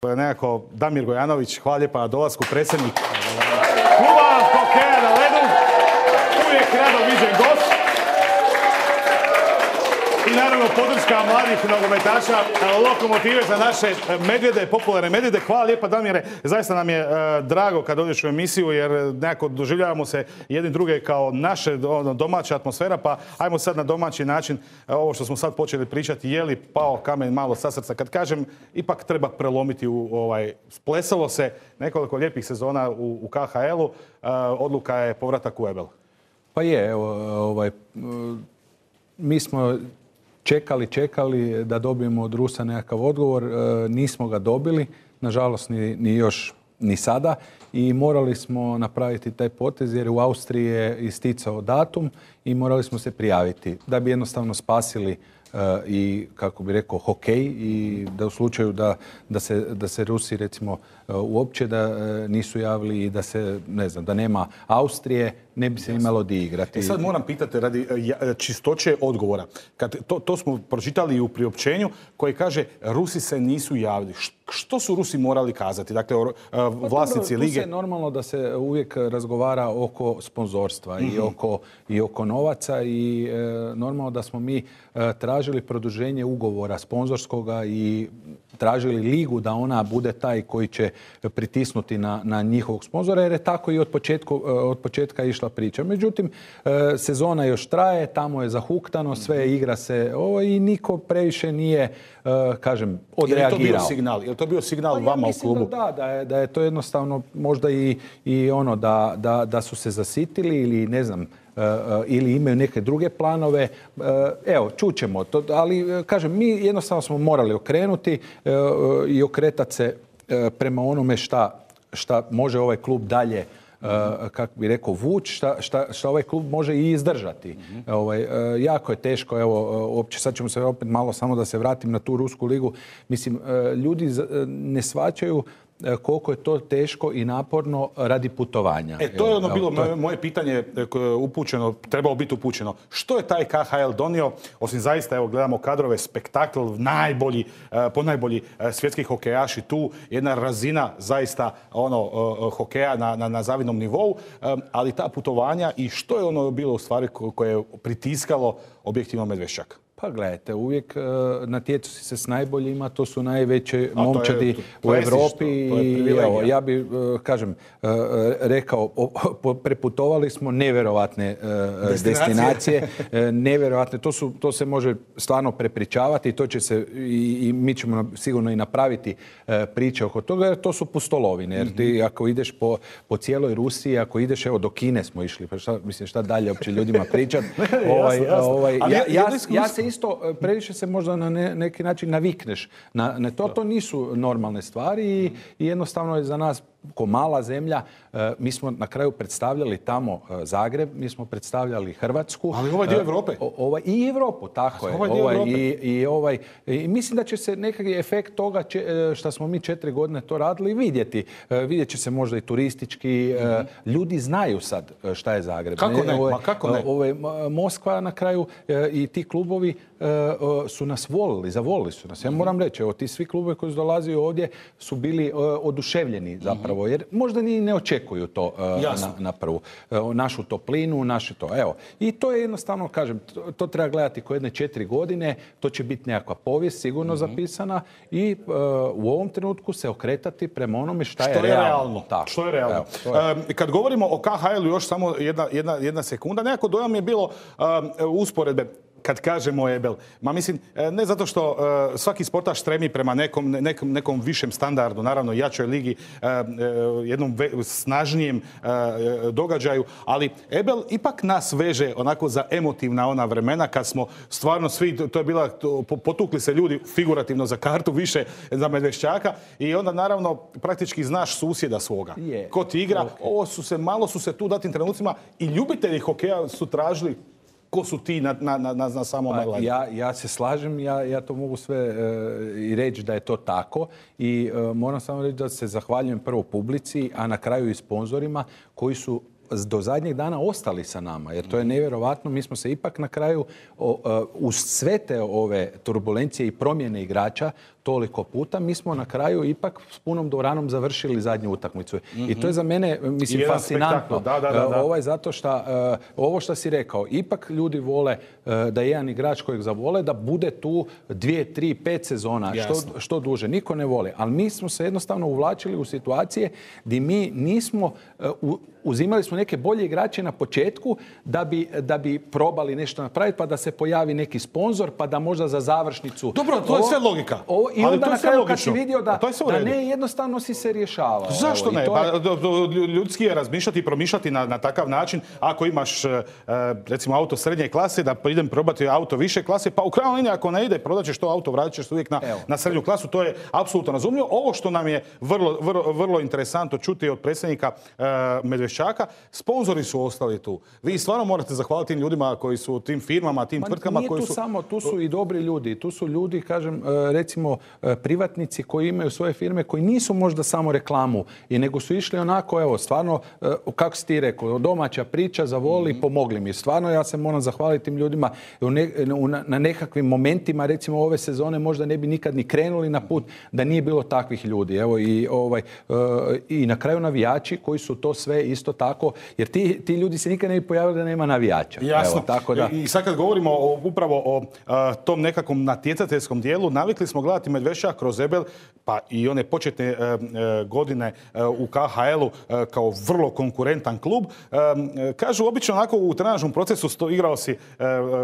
nekako Damir Gojanović, hvala lijepa na dolasku, predsjednik kluba hokeja na ledu, uvijek rado viđen gost. I naravno podrška mladih nogometaša, Lokomotive za naše medvjede, popularne medvjede. Hvala lijepa Damire, zaista nam je drago kad dođeš u emisiju jer nekako doživljavamo se jedni druge kao naše domaća atmosfera, pa ajmo sad na domaći način ovo što smo sad počeli pričati, je li pao kamen malo sa srca. Kad kažem, ipak treba prelomiti splesalo se nekoliko lijepih sezona u KHL-u, odluka je povratak u EBEL. Pa je, evo, mi smo čekali da dobijemo od Rusa nekakav odgovor. Nismo ga dobili, nažalost ni još ni sada. I morali smo napraviti taj potez jer u Austriji je isticao datum i morali smo se prijaviti da bi jednostavno spasili i, kako bi rekao, hokej i da u slučaju da se Rusi recimo uopće da nisu javili i da se, ne znam, da nema Austrije, ne bi se imalo di igrati. Sad moram pitati radi čistoće odgovora. To smo pročitali i u priopćenju koji kaže Rusi se nisu javili. Što su Rusi morali kazati? Dakle, vlasnici lige? Tu se normalno da se uvijek razgovara oko sponzorstva i oko novaca i normalno da smo mi tražili produženje ugovora sponzorskoga i tražili ligu da ona bude taj koji će pritisnuti na njihovog sponzora jer je tako i od početka išla priča. Međutim, sezona još traje, tamo je zahuktano, sve igra se i niko previše nije, kažem, odreagirao. Je li to bio signal vama u klubu? Mislim da je to jednostavno možda i ono da su se zasitili ili ne znam, ili imaju neke druge planove. Evo, čućemo to, ali kažem, mi jednostavno smo morali okrenuti i okretati se prema onome šta može ovaj klub dalje, kako bi rekao, vući, šta ovaj klub može i izdržati. Jako je teško, evo, uopće sad ćemo se opet malo samo da se vratim na tu Rusku ligu. Mislim, ljudi ne shvaćaju koliko je to teško i naporno radi putovanja. To je bilo moje pitanje upućeno, trebalo biti upućeno. Što je taj KHL donio, osim zaista, evo, gledamo kadrove, spektakl, ponajbolji svjetski hokejaši tu, jedna razina zaista hokeja na zavidnom nivou, ali ta putovanja i što je ono bilo u stvari koje je pritiskalo objektivno Medveščak? Pa gledajte, uvijek natječu se s najboljima, to su najveće momčadi u Europi i evo, ja bi, kažem, rekao, preputovali smo nevjerovatne destinacije, nevjerovatne, to se može stvarno prepričavati i to će se, i mi ćemo sigurno i napraviti priče oko toga, jer to su pustolovine, jer ti ako ideš po cijeloj Rusiji, ako ideš, evo, do Kine smo išli, pa šta dalje uopće ljudima pričati. Ja se isto, previše se možda na neki način navikneš na to. To nisu normalne stvari i jednostavno je za nas ko mala zemlja. Mi smo na kraju predstavljali tamo Zagreb, mi smo predstavljali Hrvatsku. Ali ovaj dio Evrope. I Evropu, tako je. I mislim da će se nekakav efekt toga što smo mi 4 godine to radili vidjeti. Vidjet će se možda i turistički. Ljudi znaju sad šta je Zagreb. Kako ne? Moskva na kraju i ti klubovi su nas zavolili su nas. Ja moram reći, evo, ti svi klubovi koji su dolazili ovdje su bili oduševljeni zapravo, jer možda ni ne očekuju to na prvu. Našu toplinu, naše to. Evo. I to je jednostavno, kažem, to treba gledati ko jedne 4 godine, to će biti nekakva povijest sigurno zapisana i u ovom trenutku se okretati prema onome što je realno. Što je realno. Kad govorimo o KHL-u, još samo jedna sekunda, nekako dojam je bilo usporedbe. Kad kažemo EBEL, mislim, ne zato što svaki sportaš stremi prema nekom višem standardu, naravno jačoj ligi, jednom snažnijem događaju, ali EBEL ipak nas veže onako za emotivna ona vremena kad smo stvarno svi, to je bila, potukli se ljudi figurativno za kartu više za Medveščaka i onda naravno praktički znaš susjeda svoga. Ko ti igra, malo su se tu datim trenucima i ljubitelji hokeja su tražili ko su ti na samom ledu. Ja se slažem, ja to mogu sve i reći da je to tako i moram samo reći da se zahvaljujem prvo publici, a na kraju i sponzorima koji su do zadnjeg dana ostali sa nama, jer to je nevjerovatno. Mi smo se ipak na kraju uz sve te ove turbulencije i promjene igrača toliko puta, mi smo na kraju ipak s punom dvoranom završili zadnju utakmicu. I to je za mene, mislim, fascinantno. Da. Zato što ovo što si rekao, ipak ljudi vole da jedan igrač kojeg zavole da bude tu 2, 3, 5 sezona, što duže. Niko ne voli. Ali mi smo se jednostavno uvlačili u situacije gdje mi nismo uzimali smo neke bolje igrače na početku da bi probali nešto napraviti, pa da se pojavi neki sponzor, pa da možda za završnicu... Dobro, to je sve logika. I onda na kraju kad si vidio da ne, jednostavno si se rješavao. Zašto ne? Ljudski je razmišljati i promišljati na takav način. Ako imaš, recimo, auto srednje klase, da idem probati auto više klase, pa u krajnjoj liniji ako ne ide, prodat ćeš to auto, vratit ćeš uvijek na srednju klasu. To je apsolutno razumljivo. Ovo što nam je vrlo interesantno čuti od predsjednika Medveščaka, sponzori su ostali tu. Vi stvarno morate zahvaliti tim ljudima koji su u tim firmama, tim tvrtkama koji su... Tu su i dobri ljudi. Tu su ljudi, kažem, recimo privatnici koji imaju svoje firme, koji nisu možda samo reklamu, nego su išli onako, evo, stvarno, kako si ti rekao, domaća priča, zavoli, pomogli mi. Stvarno, ja se moram zahvaliti tim ljudima. Na nekakvim momentima, recimo ove sezone, možda ne bi nikad ni krenuli na put da nije bilo takvih ljudi. Evo, i na kraju navijači koji su to sve isto tako, jer ti ljudi se nikad ne bi pojavili da nema navijača. Jasno. Evo, tako da... I sad kad govorimo upravo o tom nekakvom natjecateljskom dijelu, navikli smo gledati Medveščak kroz Ebel, pa i one početne godine u KHL-u kao vrlo konkurentan klub. Kažu, obično onako u trenažnom procesu igrao si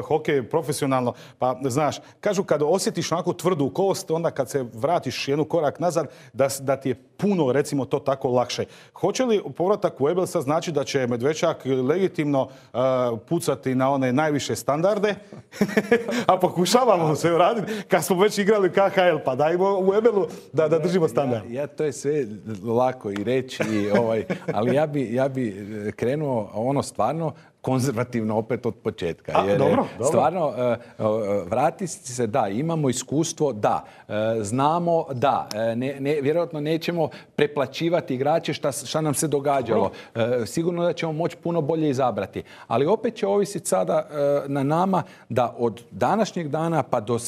hokej profesionalno, pa znaš, kažu kad osjetiš onako tvrdu kost, onda kad se vratiš jednu korak nazad, da ti je puno, recimo, to tako lakše. Hoće li povratak u Ebel sad znači da će Medveščak legitimno pucati na one najviše standarde, a pokušavamo se uraditi kad smo već igrali KHL, pa dajmo u Ebelu da držimo standard. Ja to je sve lako i reći, ali ja bi krenuo ono stvarno konzervativno opet od početka. Dobro. Stvarno, vrati se, da, imamo iskustvo, da, znamo, da, vjerojatno nećemo preplaćivati igrače šta nam se događalo. Sigurno da ćemo moći puno bolje izabrati. Ali opet će ovisiti sada na nama da od današnjeg dana pa do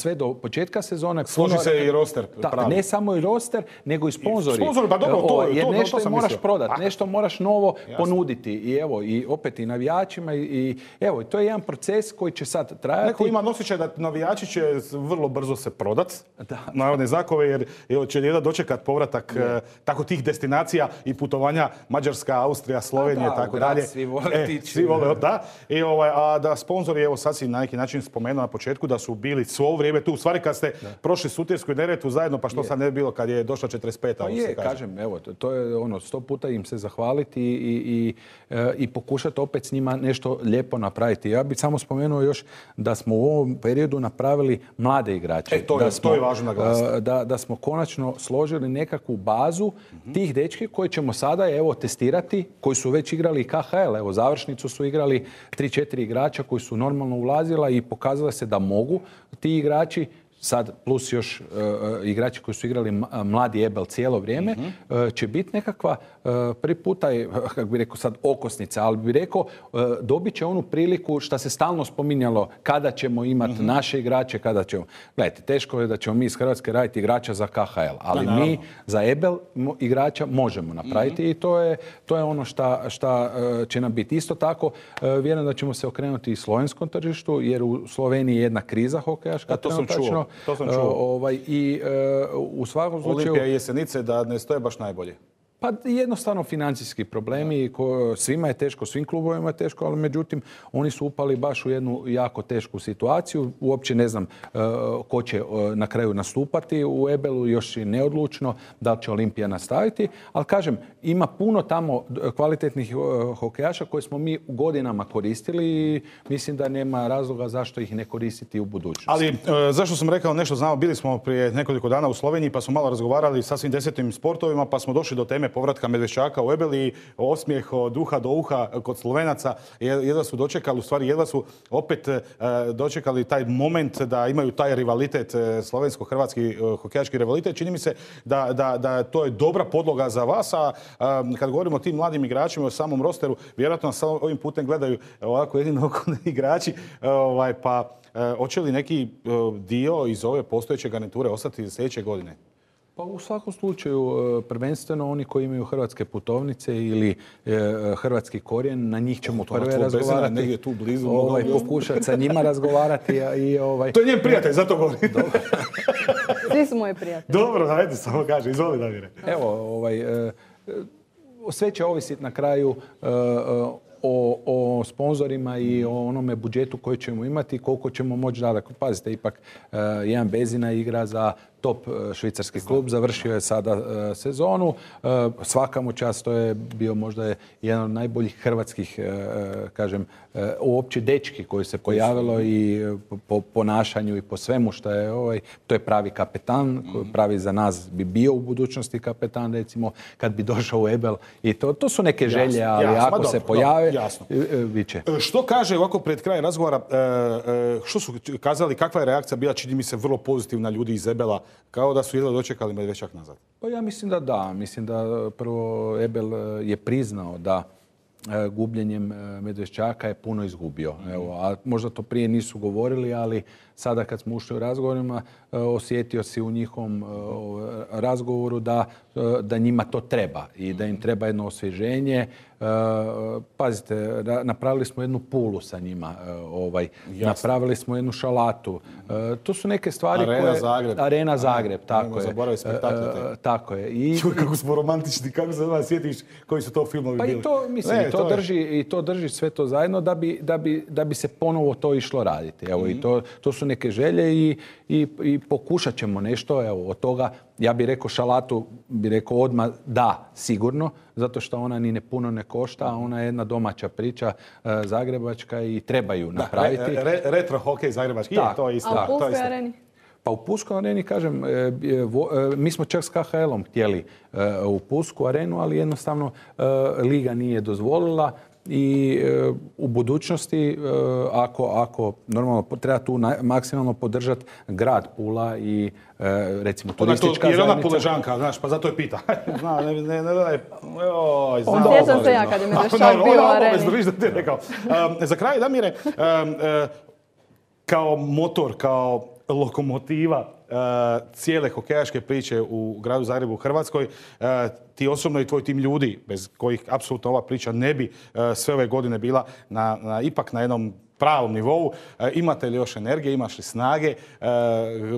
početka sezone... Složi se i roster. Ne samo i roster, nego i sponzori. Sponzori, pa dobro, jer nešto moraš prodati, nešto moraš novo ponuditi. I evo, i opet i navijači. I evo, to je jedan proces koji će sad trajati. Neko ima osjećaj da navijači će vrlo brzo se prodat na one zakove, jer će jedan dočekat povratak tako tih destinacija i putovanja Mađarska, Austrija, Slovenija i tako dalje. Svi vole tići. Svi vole, da. A da sponzori, evo sad si na neki način spomenuo na početku da su bili svo ovo vrijeme tu. U stvari kad ste prošli Sutjesku i Neretvu zajedno, pa što sad ne bi bilo kad je došla 45. Pa kažem, evo, to je 100 puta im se zahvaliti i pokušati opet s njima nešto lijepo napraviti. Ja bih samo spomenuo još da smo u ovom periodu napravili mlade igrače. To je važno naglasiti. Da smo konačno složili nekakvu bazu tih dečki koji ćemo sada testirati, koji su već igrali KHL. Evo, završnicu su igrali 3-4 igrača koji su normalno ulazila i pokazalo se da mogu ti igrači, sad plus još igrači koji su igrali mladi Ebel cijelo vrijeme, će biti nekakva prvi puta, kako bi rekao sad, okosnica, ali bi rekao dobit će onu priliku što se stalno spominjalo kada ćemo imati naše igrače, kada ćemo... Gledajte, teško je da ćemo mi iz Hrvatske raditi igrača za KHL, ali mi za Ebel igrača možemo napraviti i to je ono šta će nam biti. Isto tako, vjerujem da ćemo se okrenuti i slovenskom tržištu, jer u Sloveniji je jedna kriza hokejaška. To sam čuo. I u svakom slučaju... Olimpija i Jesenice da ne stoje baš najbolje. Pa jednostavno financijski problemi, svima je teško, svim klubovima je teško, ali međutim oni su upali baš u jednu jako tešku situaciju. Uopće ne znam ko će na kraju nastupati u Ebelu, još je neodlučno da li će Olimpija nastaviti, ali kažem, ima puno tamo kvalitetnih hokejaša koje smo mi godinama koristili i mislim da nema razloga zašto ih ne koristiti u budućnosti. Ali zašto sam rekao nešto, znamo, bili smo prije nekoliko dana u Sloveniji pa smo malo razgovarali sa svim 10 sportovima pa smo došli do teme povratka Medveščaka u Ebel i osmijeh od uha do uha kod Slovenaca. Jedva su dočekali, u stvari jedva su opet dočekali taj moment da imaju taj rivalitet, slovensko-hrvatski hokejaški rivalitet. Čini mi se da to je dobra podloga za vas, a kad govorimo o tim mladim igračima, o samom rosteru, vjerojatno nas ovim putem gledaju ovako jedino okolni igrači, pa hoće li neki dio iz ove postojeće garniture ostati sljedeće godine? Pa u svakom slučaju, prvenstveno oni koji imaju hrvatske putovnice ili hrvatski korijen, na njih ćemo prve razgovarati. Negdje tu blizu. Pokušati sa njima razgovarati. To je njen prijatelj, zato govorim. Svi su moji prijatelji. Dobro, ajde, samo kaže, izvoli Damire. Evo, sve će ovisiti na kraju o sponzorima i o onome budžetu koji ćemo imati i koliko ćemo moći dati. Pazite, ipak jedan Bezina igra za top švicarski klub, završio je sada sezonu. Svaka mu čast, to je bio možda jedan od najboljih hrvatskih, kažem, uopće dečki koji se pojavilo i po ponašanju i po svemu što je to je pravi kapetan, pravi za nas bi bio u budućnosti kapetan, recimo, kad bi došao u Ebel. I to su neke želje, ali ako se pojave, bit će. Što kaže ovako pred kraj razgovora, što su kazali, kakva je reakcija bila, čini mi se vrlo pozitivna ljudi iz Ebela, kao da su jedva dočekali Medveščak nazad? Pa ja mislim da da. Mislim da prvo Ebel je priznao da gubljenjem Medveščaka je puno izgubio. Evo, a možda to prije nisu govorili, ali sada kad smo ušli u razgovorima, osjetio si u njihovom razgovoru da njima to treba i da im treba jedno osvježenje. Pazite, napravili smo jednu pulu sa njima, napravili smo jednu šalatu. To su neke stvari Arena Zagreb, tako je. Zaboravio spektakle. Tako je. Čuj, kako smo romantični, kako se vas sjetiš koji su to filmovi bili. Pa i to, mislim, to drži sve to zajedno da bi se ponovo to išlo raditi. Evo, i to su neke želje i pokušat ćemo nešto, evo, od toga. Ja bih rekao šalatu, bih rekao odmah da, sigurno, zato što ona ni puno ne košta, a ona je jedna domaća priča zagrebačka i treba ju napraviti. Retro hokej zagrebački, to je isto. A u Pulskoj areni? Pa u Pulskoj areni, kažem, mi smo čak s KHL-om htjeli u Pulsku arenu, ali jednostavno liga nije dozvolila. I u budućnosti, ako normalno treba tu maksimalno podržati grad Pula i recimo turistička zajednica. Jer ona Puležanka, znaš, pa zato je pita. Sjećam se ja kad je Medveščak bio u areni. Za kraj, Damire, kao motor, kao lokomotiva cijele hokejaške priče u gradu Zagrebu u Hrvatskoj, ti osobno i tvoj tim ljudi, bez kojih apsolutno ova priča ne bi sve ove godine bila ipak na jednom pravom nivou. Imate li još energije, imaš li snage?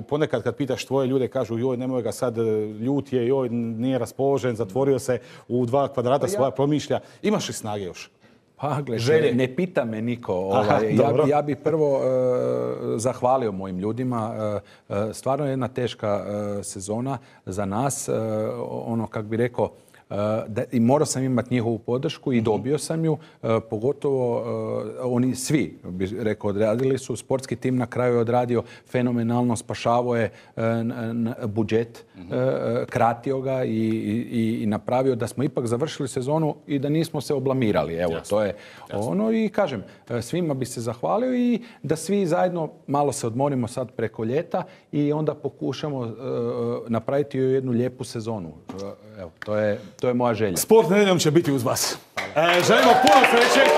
Ponekad kad pitaš tvoje ljude, kažu joj, nemoj ga sad, ljut je, joj, nije raspoložen, zatvorio se u 2 kvadrata, svoja promišlja. Imaš li snage još? Pa, gledaj, ne pita me niko. Ja bi prvo zahvalio mojim ljudima. Stvarno je jedna teška sezona za nas. Ono, kak bi rekao, i morao sam imati njihovu podršku i dobio sam ju. Pogotovo oni svi, bih rekao, odradili su. Sportski tim na kraju je odradio fenomenalno, spašavao je budžet, kratio ga i napravio da smo ipak završili sezonu i da nismo se oblamirali. Evo, to je ono. I kažem, svima bi se zahvalio i da svi zajedno malo se odmorimo sad preko ljeta i onda pokušamo napraviti jednu lijepu sezonu. Evo, to je moja želja. Sport nedjeljom će biti uz vas. Želimo puno sreće.